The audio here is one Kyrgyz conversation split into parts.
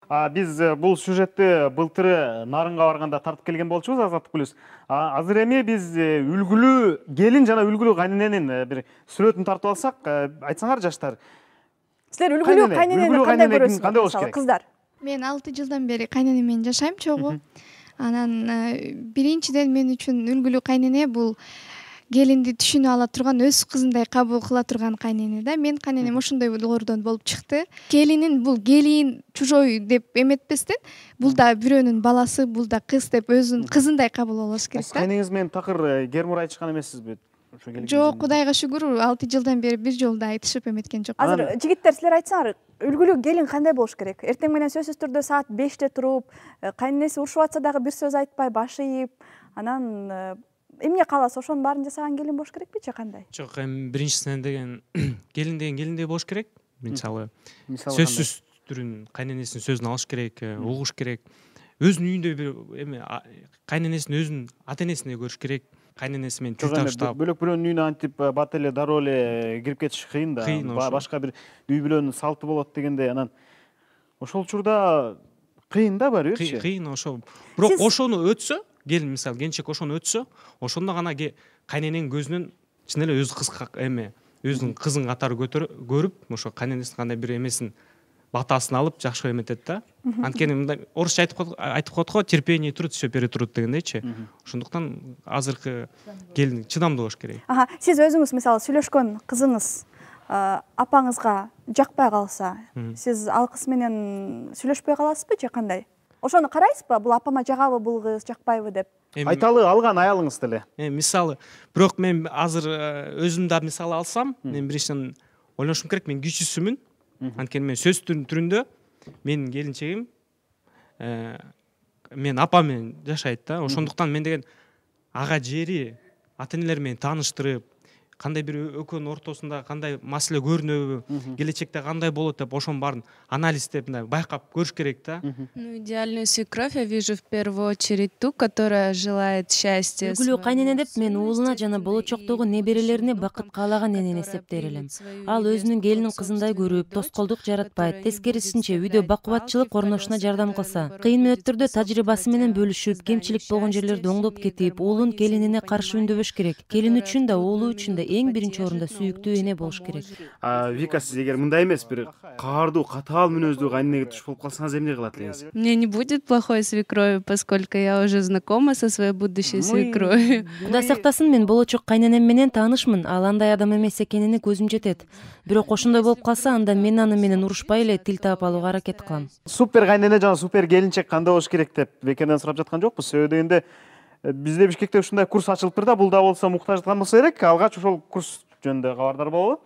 Биз бул сюжетти былтыры Нарынга барганда тартып келген болчубуз Азаттык плюс. Азыр эми биз үлгүлүү келин жана үлгүлүү кайнененин бир сүрөтүн тартып алсак, айтсаңар жаштар. Силер үлгүлүү кайненени кандай көрөсүңөр, кыздар? Мен 6 жылдан бери кайненем менен жашайм чогуу. Анан биринчиден мен үчүн үлгүлүү кайнене бул келинди түшүнүп ала турган, өз кызындай кабыл кыла турган кайнене да. Мен кайненем ошондойлордон болуп чыкты. Келинин бул келин, чужой деп эметпестен, бул да бирөөнүн баласы, бул да кыз деп өзүнүн кызындай кабыл алыш керек да. Кайнеңиз менен такыр гермур айтышкан эмессизби? Жок, Кудайга шүгүр, 6 жылдан бери бир жолу да айтышып эметкен жок. Азыр жигиттер силер айтсаңар, үлгүлүү келин кандай болуш керек? Эртең менен сөзсүз түрдө саат 5те туруп, кайненеси урушуп атса дагы бир сөз айтпай, баш ийип, анан эмне кааласа ошонун баарын жасаган келин болуш керекпичи, кандай? Жок, эми биринчисинен деген келин деген келиндей болуш керек. Мисалы сөзсүз түрүн кайненесинин сөзүн алыш керек, угуш керек. Өзүнүн үйүндө бир эми кайненесин өзүнүн ата энесиндей көрүш керек. Кайненеси менен тил табыштап. Бөлөк бирөөнүн үйүнө антип бат эле, дароо эле кирип кетиш кыйын да. Башка бир үй бүлөнүн салты болот дегенде, анан ошол учурда кыйын да барыберчи. Кыйын ошол. Бирок ошону өтсө, келин мисалы келинчек ошону өтсө, ошондо гана кайнененин көзүнөн чын эле өз өзүнүн кызын катары көрүп, ошо кайненесинин кандай бир эмесин, батасын алып жакшы эметет да. Анткени мындай орусча айтып коет го, терпение труд, все перетрут дегендейчи. Ошондуктан азыркы келин чыдамдуу болуш керек. Сиз өзүңүз мисалы сүйлөшкөн кызыңыз апаңызга жакпай калса, сиз ал кыз менен сүйлөшпөй каласызбы же кандай? Ошону карайсызбы? Бул апама жагабы бул кыз, жакпайбы деп? Айталы алган аялыңыз деле. Мисалы, бирок мен азыр өзүм да мисалы алсам, мен биринчиден ойлонушум керек, мен кичүүсүмүн. Анткени мен сөз түрүндө менин келинчегим мен апам менен жашайт да. Ошондуктан мен деген ага жери, ата энелер менен тааныштырып, кандай бир экөөнүн ортосунда кандай маселе көрүнөбү, келечекте кандай болот деп ошонун баарын анализдеп байкап көрүш керек да. Идеальную свекровь я вижу в первую очередь ту, которая желает счастья. Үлгүлүү кайнене деп мен уулуна жана болочоктогу неберелерине бакыт каалаган энени эсептер элем. Ал өзүнүн келинин кызындай көрүп, тоскоолдук жаратпайт, тескерисинче үйдө бакубатчылык орношуна жардам кылса, кыйын мүнөттөрдө тажрыйбасы менен бөлүшүп, кемчилик болгон жерлерди оңдоп кетип, уулун келинине каршы үндөбөш керек. Келин үчүн да, уулу үчүн да эң биринчи орунда сүйүктүү эне болуш керек. Вика, сиз эгер мындай эмес, бир каардуу, катаал мүнөздүү кайненеге туш болуп калсаңыз эмне кылат элеңиз? Мне не будет плохой свекрови, поскольку я уже знакома со своей будущей свекровью. Кудай сактасын, мен болочок кайненем менен таанышмын. Ал андай адам эмес экенине көзүм жетет. Бирок ошондой болуп калса, анда мен аны менен урушпай эле тил таап алууга аракет кылам. Супер кайнене жана супер келинчек кандай болуш керек деп Бекеден сурап жаткан жокпуз. Себеби дегенде бизде Бишкекте ушундай курс ачылыптыр да, бул да болсо муктаждыктан болсо керек. Алгач ошол курс жөнүндө кабардар болобу?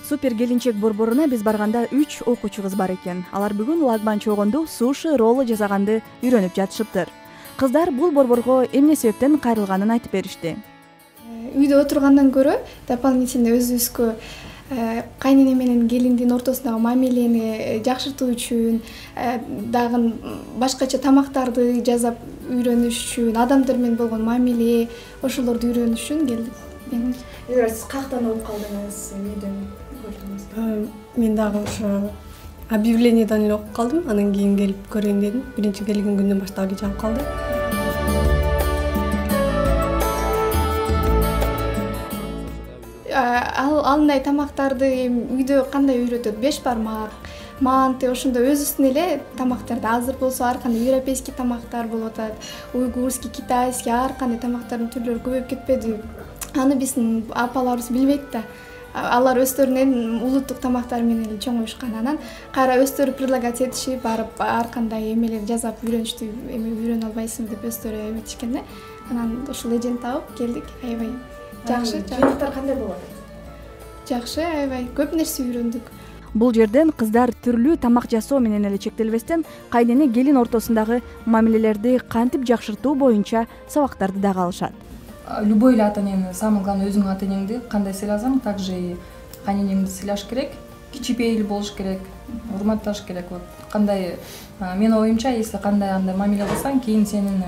Супер келинчек борборуна биз барганда 3 окуучу кыз бар экен. Алар бүгүн лагман чогонду суши, роллы жасаганды үйрөнүп жатышыптыр. Кыздар бул борборго эмне себептен кайрылганын айтып беришти. Үйдө отургандан көрө дополнительно өзүбүзгө кайнене менен келиндин ортосундагы мамилени жакшыртуу үчүн, дагы башкача тамактарды жасап үйрөнүш үчүн, адамдар менен болгон мамиле, ошолорду үйрөнүш үчүн келдик. Сиз каяктан угуп калдыңыз, үйдөн көрдүңүз? Мен дагы ошо объявлениеден эле угуп калдым, анан кийин келип көрөйүн дедим. Биринчи келген күндөн баштап эле жагып калды. Андай тамактарды үйдө кандай үйрөтөт? Беш бармак, манты, ошондой өзүбүздүн эле тамактарды азыр болсо ар кандай европейский тамактар болуп атат, уйгурский, китайский, ар кандай тамактардын түрлөрү көбөйүп кетпеди. Аны биздин апаларыбыз билбейт да. Алар өздөрүнүн улуттук тамактары менен эле чоңоюшкан. Анан кайра өздөрү предлагать этишип, барып ар кандай эмелер жасап үйрөнүштү, эме үйрөнө албайсыңбы деп өздөрү эметишкен да. Анан ошол эжени таап келдик. Аябай жакшы. Жыйынтыктар кандай болот? Жакшы, аябай көп нерсе үйрөндүк. Бул жерден кыздар түрлүү тамак жасоо менен эле чектелбестен, кайнене келин ортосундагы мамилелерди кантип жакшыртуу боюнча сабактарды дагы алышат. Любой эле ата энени, самое главное, өзүңдүн ата энеңди кандай сыйласаң, также и кайненеңди сыйлаш керек. Кичипейил болуш керек, урматташ керек. Вот кандай, менин оюмча, если кандай андай мамиле кылсаң, кийин сенин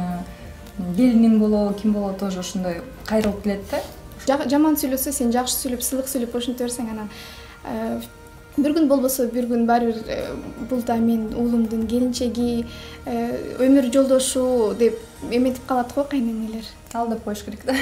келиниң болобу, ким болобу тоже ошондой кайрылып келет да. Жаман сүйлөсө, сен жакшы сүйлөп, сылык сүйлөп ошентип берсең, анан бир күн болбосо бир күн баары бир бул да менин уулумдун келинчеги, өмүр жолдошу деп эметип калат го кайненелер. Алдап коюш керек да.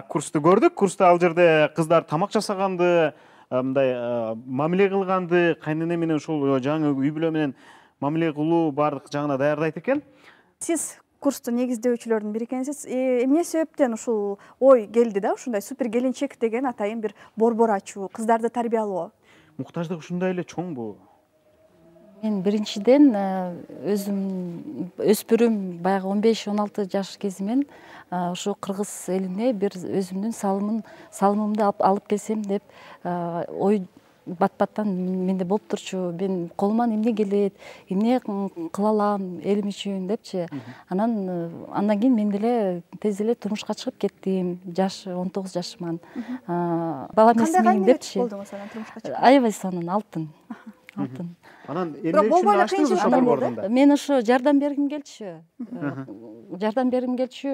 Курсту көрдүк. Курста ал жерде кыздар тамак жасаганды, мындай мамиле кылганды, кайнене менен ушул жаңы үй бүлө менен мамиле кылуу баардык жагына даярдайт экен. Сиз курсту негиздөөчүлөрдүн бири экенсиз. Эмне себептен ушул ой келди да, ушундай супер келинчек деген атайын бир борбор ачуу, кыздарды тарбиялоо? Муктаждык ушундай эле чоңбу? Мен биринчиден өзүм өспүрүм баягы 15-16 жаш кезимен ушу кыргыз элине бир өзүмдүн салымымды алып келсем деп ой бат-баттан менде болуп турчу. Мен колуман эмне келет, эмне кыла алам элим үчүн депчи. Андан кийин мен деле тез эле турмушка чыгып кеттим. Жаш 19 жашыман. Бала эмес мен депчи. Кандай болдуңуз анан турмушка чыгып? Аябай сонун, алтын. Анан эмне үчүн ачтыңыз ошол борборду? Мен ошо жардам бергим келчү.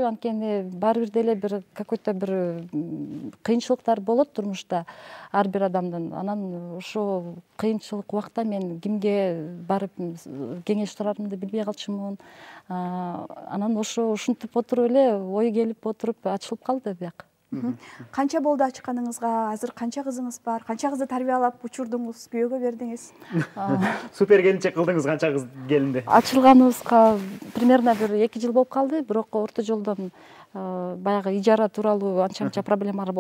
Анткени баары бир деле бир какой-то бир кыйынчылыктар болот турмушта ар бир адамдын. Анан ошо кыйынчылык убакта мен кимге барып кеңеш сурарымды билбей калчумун. Анан ушинтип отуруп эле ой келип отуруп ачылып калды бияк. Канча болду ачканыңызга? Азыр канча кызыңыз бар? Канча кызды тарбиялап учурдуңуз, күйөөгө бердиңиз? Супер келинчек кылдыңыз канча кыз келинди? Ачылганыбызга примерно бир 2 жыл болуп калды, бирок орто жолдон баягы ижара тууралуу анча проблемалар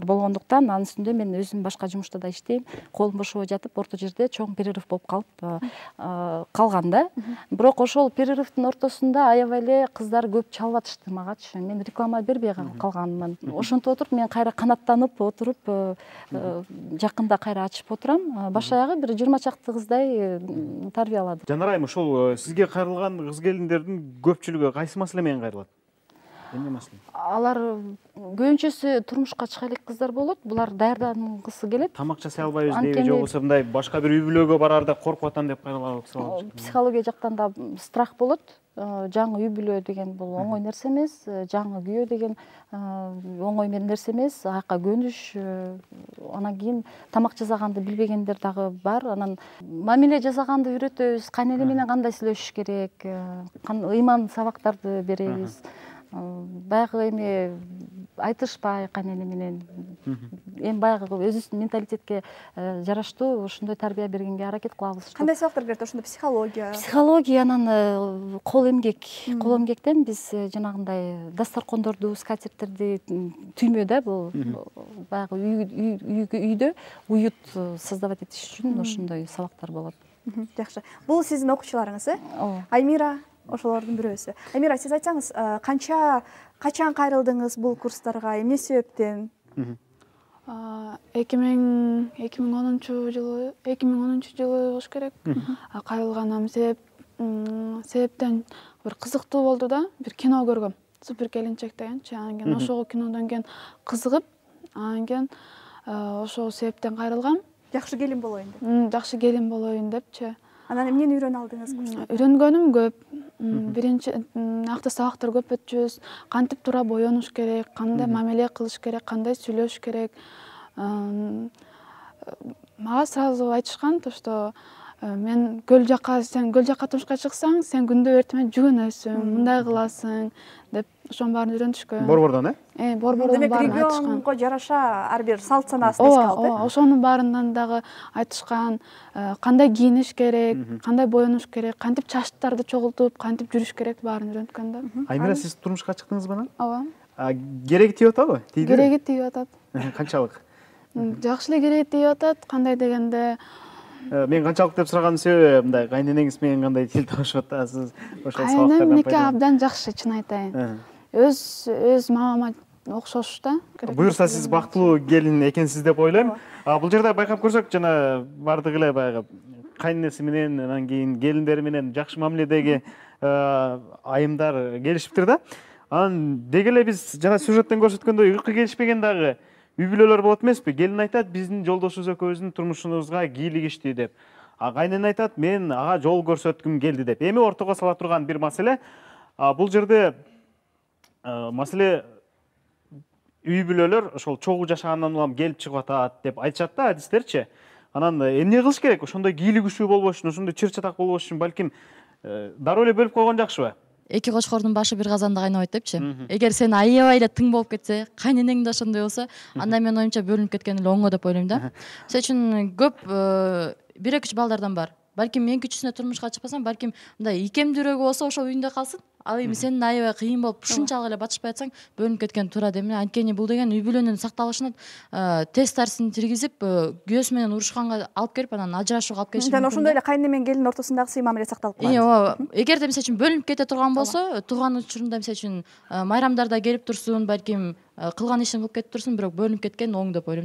болгондуктан анын үстүндө мен өзүм башка жумушта да иштейм. Колум бошобой жатып, орто жерде чоң перерыв болуп калган да. Бирок ошол перерывдин ортосунда аябай эле кыздар көп чалып атышты магачы. Мен реклама бербей калганмын. Ошентип отуруп мен кайра канаттанып отуруп жакында кайра ачып отурам. Баш аягы бир 20 чакты кыздай тарбияладым. Жанар айым, ушул сизге кайрылган кыз келиндердин көпчүлүгү кайсы маселе менен кайрылат? Эмне маселе? Алар көбүнчөсү турмушка чыга элек кыздар болот. Булар даярдангысы келет. Тамак жасай албайбыз деби, же болбосо мындай башка бир үй бүлөгө бараарда коркуп атам деп кайрылган кыздар болот. Психология жактан да страх болот. Жаңы үй бүлө деген бул оңой нерсе эмес. Жаңы күйөө деген оңой нерсе эмес. Аяка көнүш, анан кийин тамак жасаганды билбегендер дагы бар. Анан мамиле жасаганды үйрөтөбүз. Кайнене менен кандай сүйлөшүш керек, ыйман сабактарды беребиз. Баягы эми айтышпай кайнене менен эми баягы өзүбүздүн менталитетке жараштуу ошондой тарбия бергенге аракет кылабыз. Кандай сабактар берет? Ошондо психология, анан кол эмгектен биз жанагындай дасторкондорду, скатерттерди түймө да, бул баягы үйдө уют создавать этиш үчүн ошондой сабактар болот. Жакшы. Бул сиздин окуучуларыңыз, Ооба. Аймира ошолордун бирөөсү. Аймира, сиз айтсаңыз, качан кайрылдыңыз бул курстарга, эмне себептен? 2010 жылы болуш керек. Кайрылганам себептен бир кызыктуу болду да, бир кино көргөм. Супер келинчек дегенчи. Анан кийин ошол кинодон кийин кызыгып, анан кийин ошол себептен кайрылгам. Жакшы келин болоюн деп. Жакшы келин болоюн депчи. Анан эмнени үйрөнө алдыңыз курста? Үйрөнгөнүм көп. Биринчи акты сабактар көп өтчүбүз. Кантип туура боенуш керек, кандай мамиле кылыш керек, кандай сүйлөш керек. Мага сразу айтышкан, что мен сен көл жакка турмушка чыксаң, сен күндө эртемен жүгүнөсүң, мындай кыласың деп ошонун баарын үйрөнүшкөн. Борбордон, Борбордон баарын айтышкан. Регионго жараша ар бир салт санаасын эске алды. Ооба, ошонун баарынан дагы айтышкан, кандай кийиниш керек, кандай боенуш керек, кантип чачтарды чогултуп, кантип жүрүш керек, баарын үйрөнткөн да. Аймира, сиз турмушка чыктыңызбы анан? Ооба. Кереги тийип атабы? Кереги тийип атат. Канчалык? Жакшы эле кереги тийип атат. Кандай дегенде мен канчалык деп сураганын себеби мындай, кайненеңиз менен кандай тил табышып атасыз? Ошол сабактардан кайненемдики абдан жакшы, чын айтайын. Өз мамама окшош да. Буюрса сиз бактылуу келин экенсиз деп ойлойм. Бул жерде байкап көрсөк, жана бардык эле баягы кайненеси менен, анан кийин келиндери менен жакшы мамиледеги айымдар келишиптир да. Анан деги эле биз жана сюжеттен көрсөткөндөй ыркы келишпеген дагы үй бүлөлөр болот эмеспи? Келин айтат, биздин жолдошубуз экөөбүздүн турмушубузга кийлигишти деп. Кайнене айтат, мен ага жол көрсөткүм келди деп. Эми ортого сала турган бир маселе. Бул жерде маселе үй бүлөлөр ошол чогуу жашагандан улам келип чыгып атат деп айтышат да адистерчи. Анан эмне кылыш керек? Ошондой кийлик күчүү болбош үчүн, ошондой чыр чатак болбош үчүн балким дароо эле бөлүп койгон жакшыбы? Эки кочкордун башы бир казанда кайнабайт депчи. Эгер сен аябай эле тың болуп кетсе, кайненең да ошондой болсо, анда менин оюмча бөлүнүп кеткен эле оңго деп ойлойм да. Мисалы үчүн көп 1-2 балдардан бар. Балким эң күчүсүнө турмушка чыкпасаң, балким мындай икемдүүрөөгү болсо ошол үйүндө калсын. Ал эми сен аябай кыйын болуп ушунчалык эле батышпай атсаң, бөлүнүп кеткен туура дейм. Анткени бул деген үй бүлөнүн сакталышына тест тарсин киргизип, күйөөсү менен урушканга алып келип, анан ажырашууга алып келиши мүмкүн. Ошондой эле кайнене менен келин ортосундагы сый мамиле сакталып калат. Ооба. Эгерде мисалы үчүн бөлүнүп кете турган болсо, тууган учурунда мисалы үчүн майрамдарда келип турсун, балким кылган ишин кылып кетип турсун, бирок бөлүнүп кеткен оң деп ойлойм.